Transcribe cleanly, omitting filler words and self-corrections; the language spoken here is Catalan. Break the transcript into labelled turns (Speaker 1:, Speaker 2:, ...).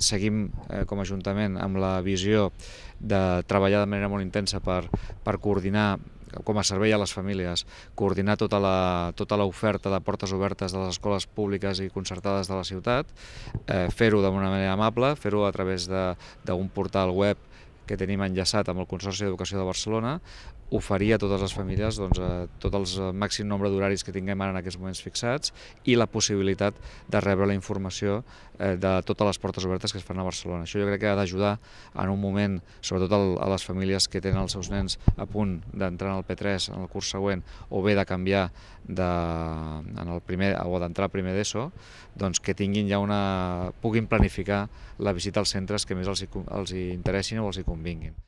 Speaker 1: seguim com a Ajuntament amb la visió de treballar de manera molt intensa per coordinar com a servei a les famílies, coordinar tota l'oferta de portes obertes de les escoles públiques i concertades de la ciutat, fer-ho d'una manera amable, fer-ho a través d'un portal web que tenim enllaçat amb el Consorci d'Educació de Barcelona, oferir a totes les famílies tot el màxim nombre d'horaris que tinguem ara en aquests moments fixats i la possibilitat de rebre la informació de totes les portes obertes que es fan a Barcelona. Això jo crec que ha d'ajudar en un moment, sobretot a les famílies que tenen els seus nens a punt d'entrar en el P3 en el curs següent o bé de canviar o d'entrar al primer d'ESO, doncs que tinguin ja puguin planificar la visita als centres que més els interessin o els hi convinguin.